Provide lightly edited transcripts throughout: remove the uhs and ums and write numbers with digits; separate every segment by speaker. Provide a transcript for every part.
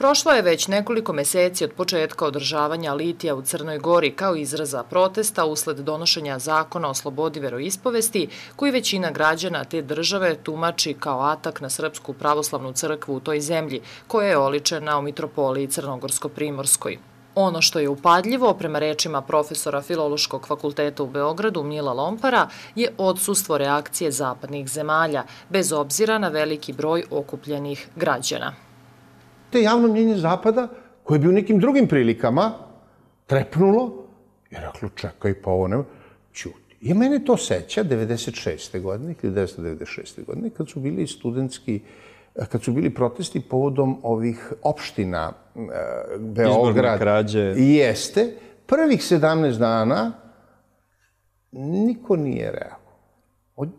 Speaker 1: Prošlo je već nekoliko meseci od početka održavanja litija u Crnoj Gori kao izraza protesta usled donošenja zakona o slobodi veroispovesti, koji većina građana te države tumači kao atak na Srpsku pravoslavnu crkvu u toj zemlji, koja je oličena u mitropoliji Crnogorsko-Primorskoj. Ono što je upadljivo, prema rečima profesora Filološkog fakulteta u Beogradu Mila Lompara, je odsustvo reakcije zapadnih zemalja, bez obzira na veliki broj okupljenih građana.
Speaker 2: Te javno mnjenje Zapada, koje bi u nekim drugim prilikama trepnulo, je reklo, čekaj, pa ovo nema, ćuti. I mene to seća 1996. godine, 1996. godine, kad su bili protesti povodom ovih opština Beograd.
Speaker 3: Izborne krađe.
Speaker 2: Jeste. Prvih 17 dana niko nije reagovao.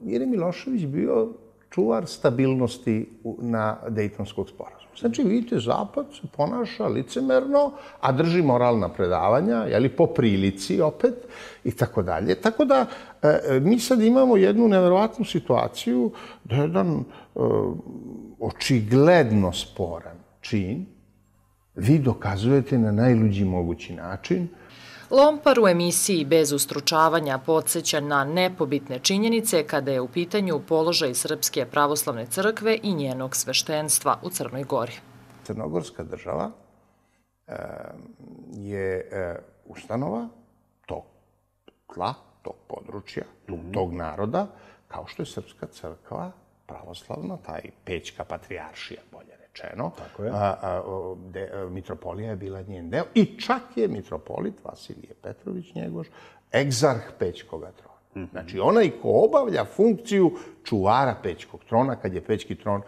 Speaker 2: Jer je Milošević bio čuvar stabilnosti na Dejtonskog sporazuma. Znači, vidite, Zapad se ponaša licemerno, a drži moralna predavanja, jeli, po prilici opet, i tako dalje. Tako da, mi sad imamo jednu neverovatnu situaciju da je jedan očigledno sporan čin vi dokazujete na najluđi mogući način.
Speaker 1: Lompar u emisiji Bez ustručavanja podsjeća na nepobitne činjenice kada je u pitanju položaj Srpske pravoslavne crkve i njenog sveštenstva u Crnoj Gori.
Speaker 2: Crnogorska država je ustanova tog tla, tog područja, tog naroda, kao što je Srpska crkva pravoslavna, taj Pećka patrijaršija, bolje rečeno. Mitropolija je bila njen deo i čak je mitropolit Vasilije Petrović Njegoš egzarh Pećkoga trona. Znači, onaj ko obavlja funkciju čuvara Pećkog trona kad je Pećki tron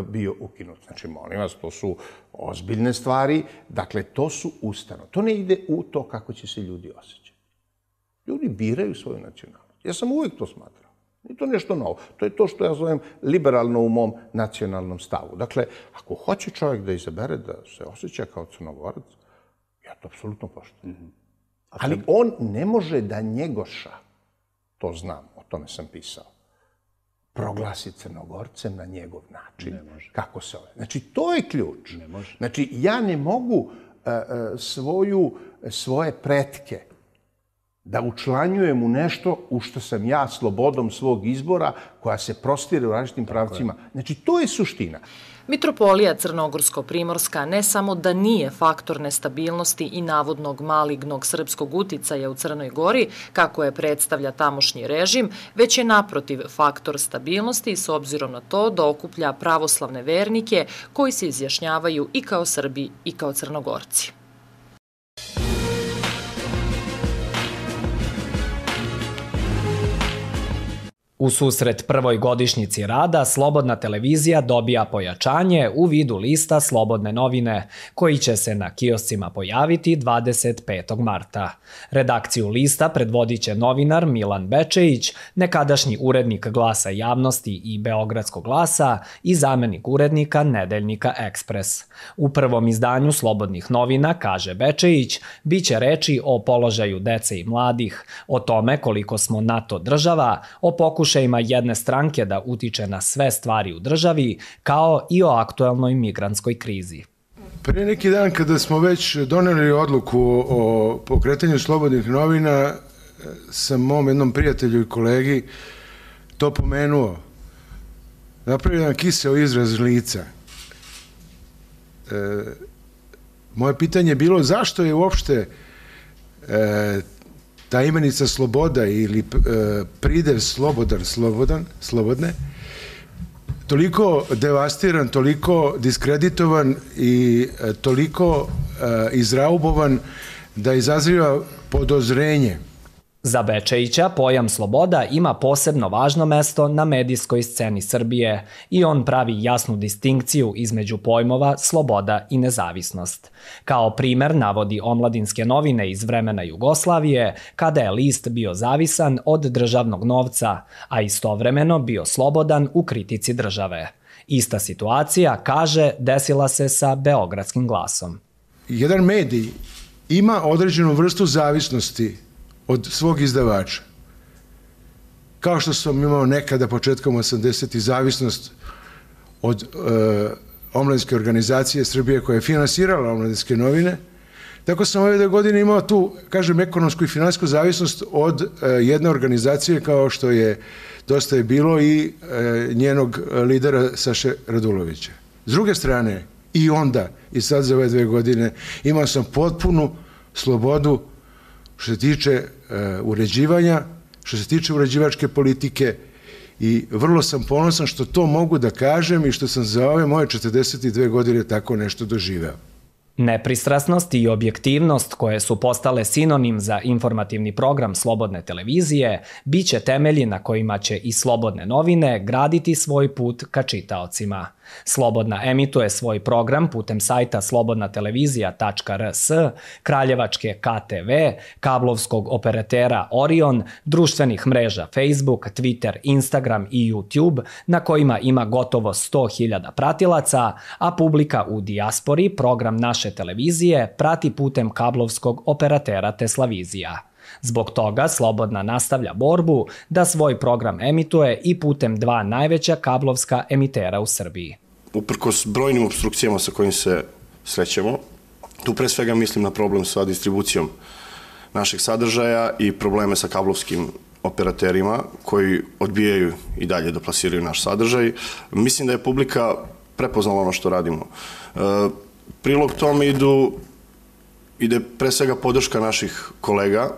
Speaker 2: bio ukinut. Znači, molim vas, to su ozbiljne stvari. Dakle, to su ustanove. To ne ide u to kako će se ljudi osjećati. Ljudi biraju svoju nacionalnost. Ja sam uvijek to smatrao. Nije to nešto novo. To je to što ja zovem liberalno u mom nacionalnom stavu. Dakle, ako hoće čovjek da izabere da se osjeća kao Crnogorac, ja to apsolutno poštujem. Ali on ne može da Njegoša, to znam, o tome sam pisao, proglasi Crnogorcem na njegov način. Kako se ove. Znači, to je ključ. Znači, ja ne mogu svoje pretke da učlanjujem u nešto u što sam ja slobodom svog izbora, koja se prostire u različitim pravcima. Znači, to je suština.
Speaker 1: Mitropolija Crnogorsko-Primorska ne samo da nije faktor nestabilnosti i navodnog malignog srpskog uticaja u Crnoj Gori, kako je predstavlja tamošnji režim, već je naprotiv faktor stabilnosti s obzirom na to da okuplja pravoslavne vernike koji se izjašnjavaju i kao Srbi i kao Crnogorci.
Speaker 4: U susret prvoj godišnjici rada, Slobodna televizija dobija pojačanje u vidu lista Slobodne novine, koji će se na kioscima pojaviti 25. marta. Redakciju lista predvodit će novinar Milan Bečejić, nekadašnji urednik Glasa javnosti i Beogradskog glasa i zamenik urednika Nedeljnika Ekspres. U prvom izdanju Slobodnih novina, kaže Bečejić, biće reči o položaju dece i mladih, o tome koliko smo NATO država, o pokušajima jedne stranke da utiče na sve stvari u državi, kao i o aktuelnoj migrantskoj krizi.
Speaker 5: Pre neki dan, kada smo već doneli odluku o pokretanju Slobodnih novina, sam mom jednom prijatelju i kolegi to pomenuo. Napravio jedan kiseo izraz lica. Moje pitanje je bilo zašto je uopšte ta imenica sloboda ili pridev slobodne, toliko devastiran, toliko diskreditovan i toliko izraubovan da izaziva podozrenje.
Speaker 4: Za Bečejića pojam sloboda ima posebno važno mesto na medijskoj sceni Srbije i on pravi jasnu distinkciju između pojmova sloboda i nezavisnost. Kao primer navodi omladinske novine iz vremena Jugoslavije, kada je list bio zavisan od državnog novca, a istovremeno bio slobodan u kritici države. Ista situacija, kaže, desila se sa Beogradskim glasom.
Speaker 5: Jedan medij ima određenu vrstu zavisnosti od svog izdavača. Kao što sam imao nekada početkom 80. zavisnost od omladinske organizacije Srbije koja je finansirala omladinske novine. Tako sam ove 2 godine imao tu, kažem, ekonomsku i finansijsku zavisnost od jedne organizacije kao što je Dosta je bilo i njenog lidera Saše Radulovića. S druge strane, i onda, i sad za ove 2 godine, imao sam potpunu slobodu što se tiče uređivanja, što se tiče uređivačke politike i vrlo sam ponosan što to mogu da kažem i što sam za ove moje 42 godine tako nešto doživeo.
Speaker 4: Nepristrasnost i objektivnost, koje su postale sinonim za informativni program Slobodne televizije, biće temelji na kojima će i Slobodne novine graditi svoj put ka čitaocima. Slobodna emituje svoj program putem sajta slobodnatelevizija.rs, kraljevačke KTV, kablovskog operatera Orion, društvenih mreža Facebook, Twitter, Instagram i YouTube, na kojima ima gotovo 100.000 pratilaca, a publika u dijaspori program naše televizije prati putem kablovskog operatera Teslavizija. Zbog toga Slobodna nastavlja borbu da svoj program emituje i putem 2 najveća kablovska emitera u Srbiji.
Speaker 3: Uprkos brojnim obstrukcijama sa kojim se srećemo, tu pre svega mislim na problem sa distribucijom našeg sadržaja i probleme sa kablovskim operaterima koji odbijaju i dalje da plasiraju naš sadržaj. Mislim da je publika prepoznala ono što radimo. Prilog tome ide pre svega podrška naših kolega,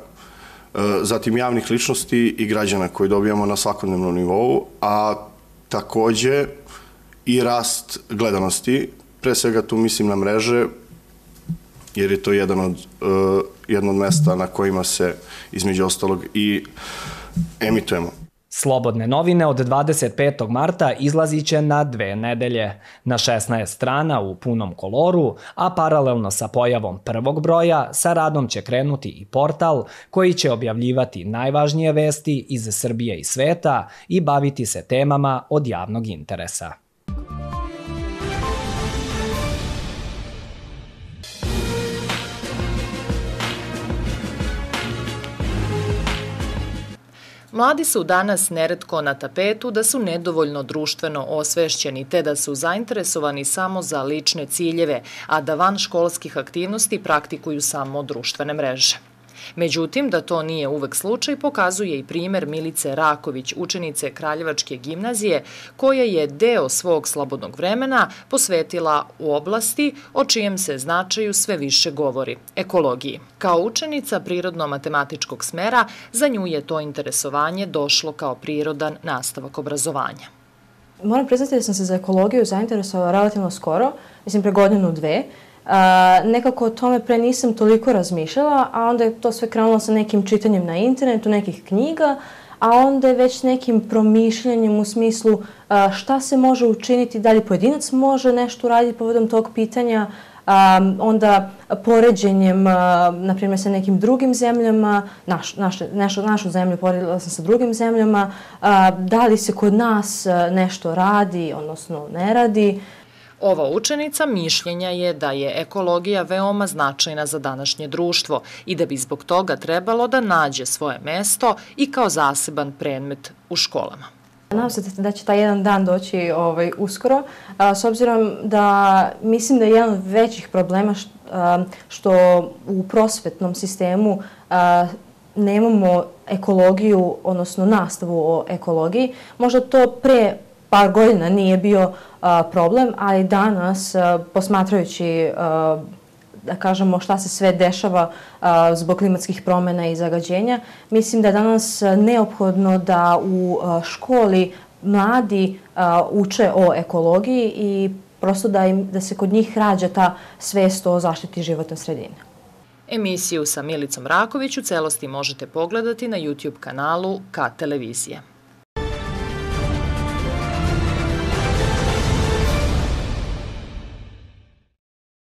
Speaker 3: zatim javnih ličnosti i građana koji dobijamo na svakodnevnom nivou, a takođe i rast gledanosti. Pre svega tu mislim na mreže, jer je to jedno od mesta na kojima se između ostalog i emitujemo.
Speaker 4: Slobodne novine od 25. marta izlazit će na 2 nedelje, na 16 strana u punom koloru, a paralelno sa pojavom prvog broja sa radom će krenuti i portal koji će objavljivati najvažnije vesti iz Srbije i sveta i baviti se temama od javnog interesa.
Speaker 1: Mladi su danas neretko na tapetu da su nedovoljno društveno osvešćeni te da su zainteresovani samo za lične ciljeve, a da van školskih aktivnosti praktikuju samo društvene mreže. Međutim, da to nije uvek slučaj pokazuje i primer Milice Raković, učenice Kraljevačke gimnazije, koja je deo svog slobodnog vremena posvetila u oblasti o čijem se značaju sve više govori – ekologiji. Kao učenica prirodno-matematičkog smera, za nju je to interesovanje došlo kao prirodan nastavak obrazovanja.
Speaker 6: Moram priznati da sam se za ekologiju zainteresovala relativno skoro, mislim pre 1-2. Nekako o tome pre nisam toliko razmišljala, a onda je to sve krenulo sa nekim čitanjem na internetu, nekih knjiga, a onda je već nekim promišljanjem u smislu šta se može učiniti, da li pojedinac može nešto uraditi povodom tog pitanja, onda poređenjem, na primjer, sa nekim drugim zemljama, našu zemlju poredila sam sa drugim zemljama, da li se kod nas nešto radi, odnosno ne radi.
Speaker 1: Ova učenica mišljenja je da je ekologija veoma značajna za današnje društvo i da bi zbog toga trebalo da nađe svoje mesto i kao zaseban predmet u školama.
Speaker 6: Nadam se da će taj jedan dan doći uskoro, s obzirom da mislim da je jedan od većih problema što u prosvetnom sistemu nemamo ekologiju, odnosno nastavu o ekologiji. Možda to pre par godina nije bio problem, ali danas, posmatrajući, da kažemo, šta se sve dešava zbog klimatskih promjena i zagađenja, mislim da je danas neophodno da u školi mladi uče o ekologiji i prosto da se kod njih rađa ta svest o zaštiti životne sredine.
Speaker 1: Emisiju sa Milicom Raković u celosti možete pogledati na YouTube kanalu K televizije.